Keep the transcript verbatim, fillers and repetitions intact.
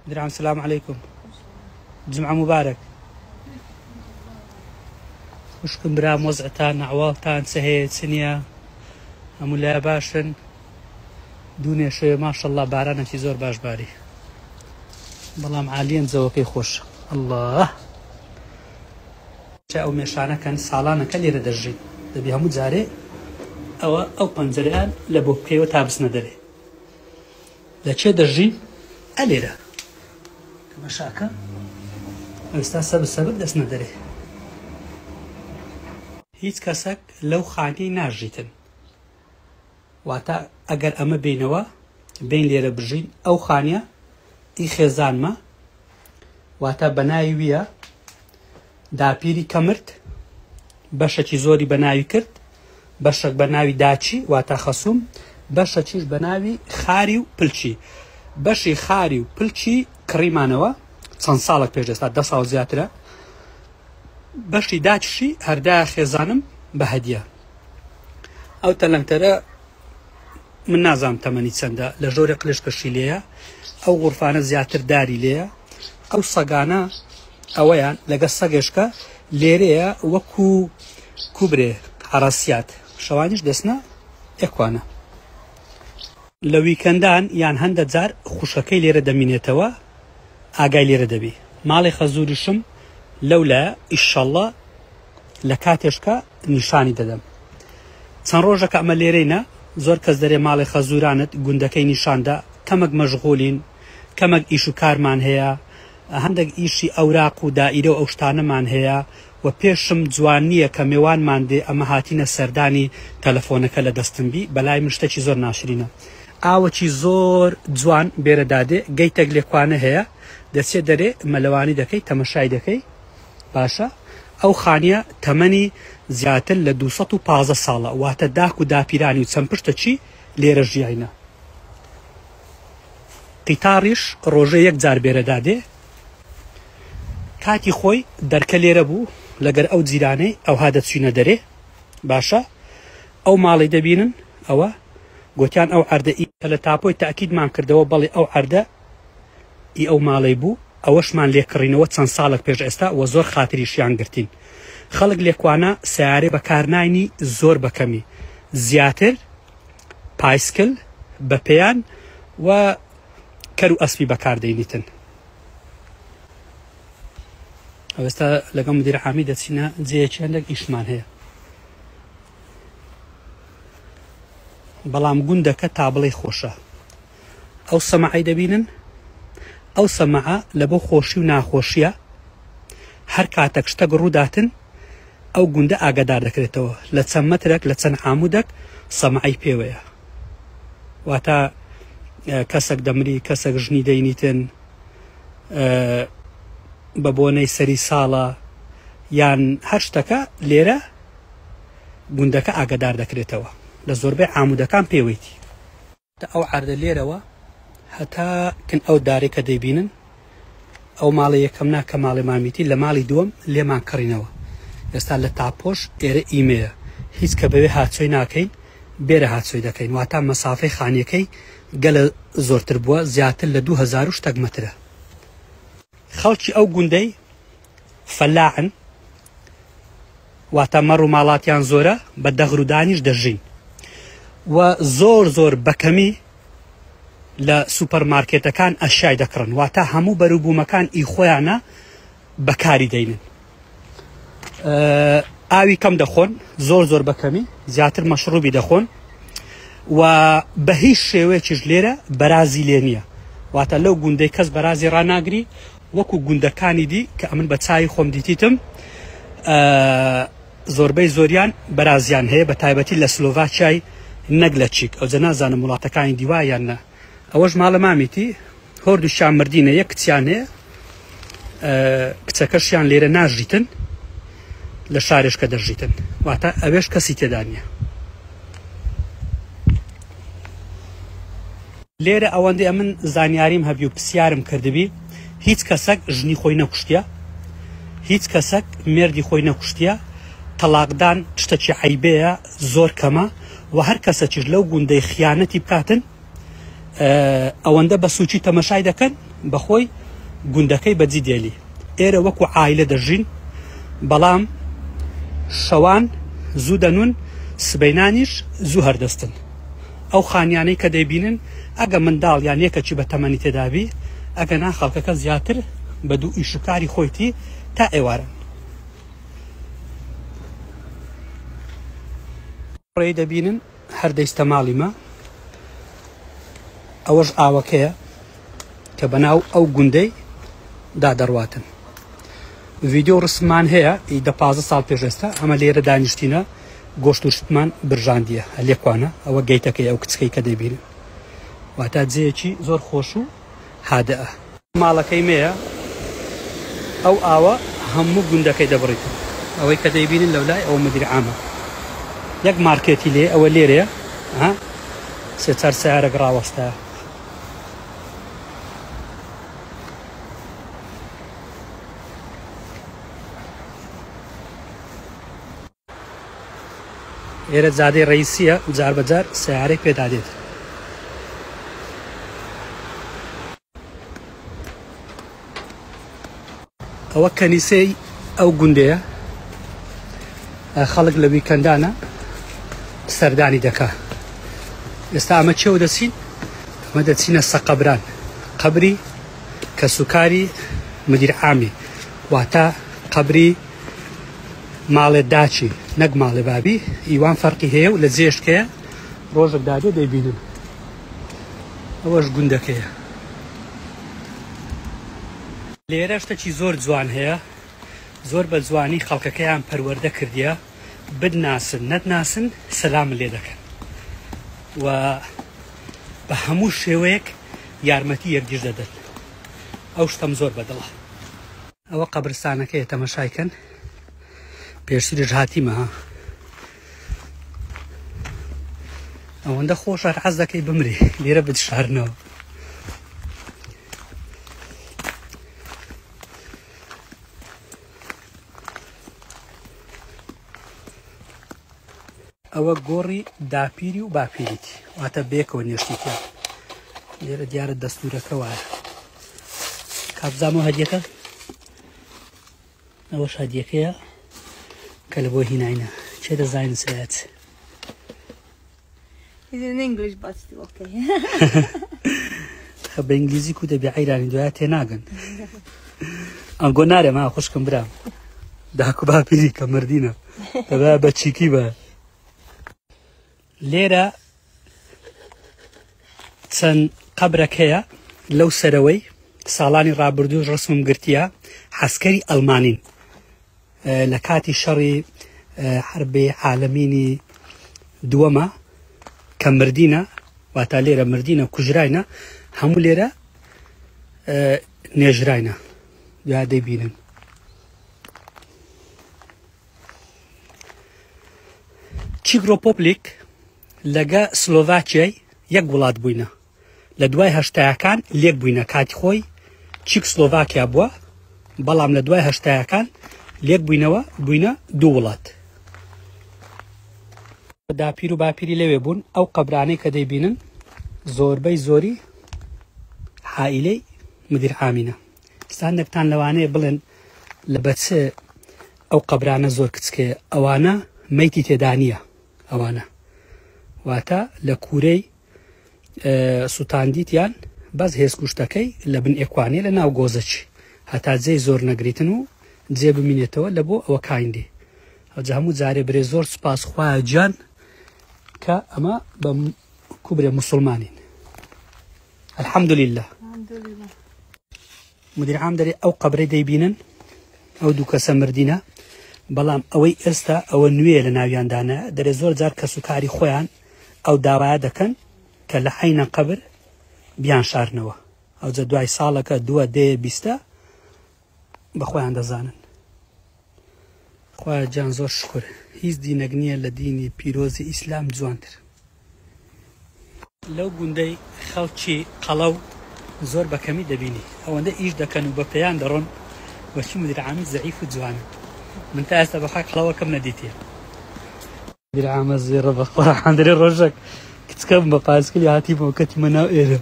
درعم سلام علیکم، جمعە موبارەک. خوشکم برام وەزعتان ئەحواڵتان چ هەیە چ نییە؟ هەموو لای باشن؟ دوونێ شەوێ ماشەڵڵا بارانێکی زۆر باش باری، بەڵام عالیەن جەوەکەی خۆش. ئەڵڵا ئەو مێشانەکەن ساڵانەکە لێرە دەژین، دەبی هەموو جارێ ئەوە ئەو پەنجەرەیان لە بۆ بکەیەوە تا بچنە دەرێ. لە چێ دەژین؟ ئەلێرە تەماشاکە ئێستا سەبر سەبر دەچنە دەرێ. هیچ کەسێک لەو خانەی ناژیتن، واتە ئەگەر ئەمە بینەوە بین لێرە بژین ئەو خانیە ئی خێزانمە، واتە بەناوی ویە داپیری کەمرد، بەشێکی زۆری بەناوی کرد، بەشێک بەناوی داچی واتە خەسوم، بەشەکیش بەناوی خاری و پلچی. بەشی خاری و پلچی کڕیمانەوە چەند ساڵێک پێش ئێستا، دە ساڵ زیاترە. بەشی داچشی هەردا خێزانم بە هەدیە. ئەو تەلەنتەرە من نازانم تەمەنی چەندە، لە ژۆرێ قلشکەشی لێیە، ئەو غورفانە زیاتر داری لێیە. ئەو سەگانە ئەوەیان لەگە سەگێشکە لێرەیە وەکو کوبرێ عەرەسیات، شەوانیش دەستنە ئێکوانە. لە ویکەندان یان هەندە جار خوشەکەی لێرە دەمینێتەوە، ئاگای لێرە دەبی. ماڵی خەزوریشم لەولا ئیشەڵڵا لە کاتێشکە نیشانی دەدەم. چەند ڕۆژەکە ئەمە لێرەینە، زۆر کەس دەرێ ماڵی خەزورانت گوندەکەی نیشاندا، کەمەک مەشغولین، کەمەک ئیش و کارمان هەیە، هەندێک ئیشی ئەوراق و دائیرە و ئەو شتانەمان هەیە و پێشم جوان نییە کە مێوانمان دێ ئەمە هاتینە سەردانی تەلەفۆنەکە لە دەستم بی، بەلای من شتێکی زۆر ناشرینە. ئاوەکی زۆر جوان بێرە دادێ، گەیتێک لێکوانە هەیە، دەچێت دەرێ مەلەوانی دەکەی تەمەشای دەکەی. باشە ئەو خانیە تەمەنی زیاتر لە دوو سەد و پازدە ساڵە، واتە داک و داپیرانی و چەند پشتە چی لێرە ژیاینە. قیتاڕیش ڕۆژە یەک جار بێرە دادێ. کاتی خۆی دەرکە لێرە بوو لەگەر ئەو جیرانەی ئەوها دەچوینە دەرێ. باشە ئەو ماڵی دەبینن ئەوە گوتیان ئەو عەردە ئی کە لە تاپۆی تاکیدمان کردەوە بەڵێ ئەو عەردە ئی ئەو ماڵەی بوو، ئەوەشمان لێکڕینەوە چەند ساڵێک پێش ئێستا وە زۆر خاتریشیان گرتین. خەڵک لێکوانە سیارەی بەکارناینی زۆر بەکەمی، زیاتر پایسکل بە پێیان و کەر و ئەسپی بەکاردەینیتن. ئەوێستا لەگەڵ مدیر عامی دەچینە جێیەکی هەندێک ئیشمان هەیە، بەڵام گوندەکە تا بڵێ خۆشە. ئەو سەماعی دەبینن، ئەو سەماعە لە بۆ خۆشی و ناخۆشیە هەر کاتێک شتێک ڕووداتن ئەو گوندە ئاگادار دەکرێتەوە، لە چەند مەترێک لە چەند عامودێک سەماعی پێوەیە. واتە کەسێک دەمری، کەسێک ژنی دەینیتن بە بۆنەی سەری ساڵە یان هەر شتەکە لێرە گوندەکە ئاگادار دەکرێتەوە، لە زۆربەی عامودەکان پێوەیتی. ئەو عەردە لێرەوە هەتا کن ئەو دارێک کە دەیبینن ئەو ماڵی یەکەم نا کە ماڵی مامیتی، لە ماڵی دووەم لێمان کڕینەوە. ئێستا لە تاپۆش ئێرە ئیمەیە، هیچ کە بەوێ هاچۆی ناکەین، بێرە هاچۆی دەکەین. واتە مەسافەی خانیەکەی گەلە زۆرتر بووە، زیاتر لە دوو هەزار و شتێک مەترە. خەڵکی ئەو گوندەی فەلاعن، واتە مەڕ و ماڵاتیان زۆرە، بە دەغرودانیش دەژین و زۆر زۆر بەکەمی لە سوپەرمارکێتەکان ئەشیای دەکڕن، واتە هەموو بەروبوومەکان ئی خۆیانە بەکاری دەینن. ئاوی کەم دەخۆن، زۆر زۆر بەکەمی، زیاتر مەشروبی دەخۆن و بە هیچ شێوەیەکیش لێرە بەرازی لێ نییە. واتە لەو گوندەی کەس بەرازی ڕاناگری وەکو گوندەکانی دی کە ئەمن بە چاوی خۆم دیتیتم، زۆربەی زۆریان بەرازیان هەیە، بە تایبەتی لە سلۆڤاکیای نەک لە چیک. ئەو جە نازانم وڵاتەکانی دیوایان نە. ئەوەش ماڵە مامیتی، هۆردووشیان مردینە، یەک کچیان هەیە، کچەکەشیان لێرە ناژیتن، لە شارێشکە دەژیتن، واتە ئەوێش کەسی تێدا نییە. لێرە ئەوەندەی ئەمن زانیاریم هەبی و پرسیارم کردبی، هیچ کەسێک ژنی خۆی نەکوشتیە، هیچ کەسێک مێردی خۆی نەکوشتیە. تەلاقدان شتێکی عەیبەیە، زۆر کەمە و هەر کەسێکیش لەو گوندەی خیانەتی بکاتن ئەوەندە بە سوچی تەمەشای دەکەن، بەخۆی گوندەکەی بەجی دێلی. ئێرە وەکو عایلە دەژین، بەڵام شەوان زوو دەنون، سبەینانیش زوو هەردەستن. ئەو خانیانەی کە دەیبینن ئەگە منداڵ یان یەکەکی بە تەمەنی تێدابی، ئەگە نا خەڵکەکە زیاتر بە دوو ئیشوکاری خۆیتی تا ئێوارن. ڕێی دەبینن هەر دەیستە ماڵی مە، ئەوەش ئاوەکەیە کە بەناو ئەو گوندەی دا دەڕواتن. ڤیدیۆ ڕسممان هەیە ئی دە پازدە ساڵ پێش ئێستا، ئەمە لێرە دانیشتینە گۆشت و شتمان برژاندیە لێکوانە، ئەوە گەیتەکەی ئەو کچکەی کە دەیبینن، واتە جێیەکی زۆر خۆش و هادەئە. ماڵەکەی مەیە، ئەو ئاوە هەموو گوندەکەی دەبڕیتن. ئەوەی کە دەیبینن لەولای ئەوە مدیر عامە، یەک مارکێتی لێ ئەوە لێرەیە، ها سێ چوار سیارەک ڕاوەستایە. ئێرە جادەی ڕئیسیە، جار بەجار سیارەی پێدا دێت. ئەوە کەنیسەی ئەو گوندەیە، خەڵک لە ویکەندانە سەردانی دەکا. ئێستا ئەمە چێوە دەچین؟ ئەمە دەچینە سەقەبران، قەبری کەسوکاری مدیر عامی، واتە قەبری ماڵێ داچی نەک ماڵێ بابی. ئیوان فەرقی هەیە و لە جێشکەیە ڕۆژێک دادێ دەیبینن. ئەوەش گوندەکەیە. لێرە شتێکی زۆر جوان هەیە، زۆر بە جوانی خەڵکەکەیان پەروەردە کردیە، بدناسن نەتناسن سەلام لێ دەکەن و بە هەموو شێوەیەک یارمەتی یەکدیش دەدەن. ئەو شتەم زۆر بەدڵە. ئەوە قەبرستانەکەیە، تەمەشایکەن. پێشتریش هاتیمە ها، ئەوەندە خۆشە حەز دەکەی بمری لێرە بتشارنەوە. ئەوە گۆڕی داپیری و باپیریتی، واتە بێکەوە نێشتیتیان. لێرە دیارە دەستورەکە وایە. کابزانەوە هەدیەکە، ئەوەش هەدیەکەیە کە لە بۆ هیناینە. چێ دەزانین سایەت؟ It's in English, but still okay. خە بە ئینگلیزی کو دەبێ عەیرانی دوایە تێناگەن. ئەنگۆ نارێ ما خوشکم برام داکو باپیری کە مردینە دەبا بە چیکی بە. لێرە چەند قەبرەک هەیە لەو سەرەوەی ساڵانی ڕابردوو ڕسمم گرتیە، عەسکەری ئەڵمانین لە کاتی شەڕی حربی عالەمینی دووەمە کە مردینە، واتە لێرە مردینە کوژراینە، هەموو لێرە نێژراینە، یا دەیبینن. چیک ڕێپۆبلیک لەگە سلۆڤاکیای یەک وڵات بووینە، لە دوای هەشتایەکان لێک بووینە. کاتی خۆی چیک سلۆڤاکیا بووە، بەڵام لە دوای هەشتایەکان لێک بووینەوە، بووینە دوو وڵات. داپیر و باپیری لەوێ بوون. ئەو قەبرانەی کە دەیبینن زۆربەی زۆری عائیلەی مدیر عامینە. ئێستا لەوانەیە بڵێن لە بەچ ئەو قەبرانە زۆر کچکەیە، ئەوانە مەیتی تێدانیە. ئەوانە واتە لە کوورەی سووتاندیتیان بەس هێزکوشتەکەی لە بن ئێکوانێ لە ناو گۆزەچی، هەتا جێی زۆر نەگریتن و جێ بمینێتەوە لە بۆ ئەوە کایندی. ئەوجا هەموو جارێ برێ زۆر سوپاس خوایە گیان کە ئەمە بە کوبرێ مسلمانین. الحەمدولillah. مدیر عام دەرێ ئەو قەبرەی دەیبینن، ئەو دوو کەسە مردینە، بەڵام ئەوەی ئێستا ئەوە نوێ لە ناویاندانە. دەرێ زۆر جار کەس و کاری خۆیان ئەو داوایە دەکەن کە لە عەینە قەبر بیان شارنەوە. ئەوجا دوای ساڵەکە دووە دێ بیستە بە خۆیان دەزانن. خوایە گیان زۆر شکر، هیچ دینێک نییە لە دینی پیرۆزی ئیسلام جوانتر. لەو گوندەی خەڵکی قەڵەو زۆر بە کەمی دەبینی، ئەوەندە ئیش دەکەن و بە پێیان دەڕۆن، وەچی مدیر عامی زەعیف و جوانن. من تا ئێستا بەخوای قەڵەوەکەم نەدیتیە. مدیر عامە زێڕە بە قورئان دەرێ ڕۆژێک کچکەم بە پاسکلی هاتیمەوە کەتیمە ناو ئێرە.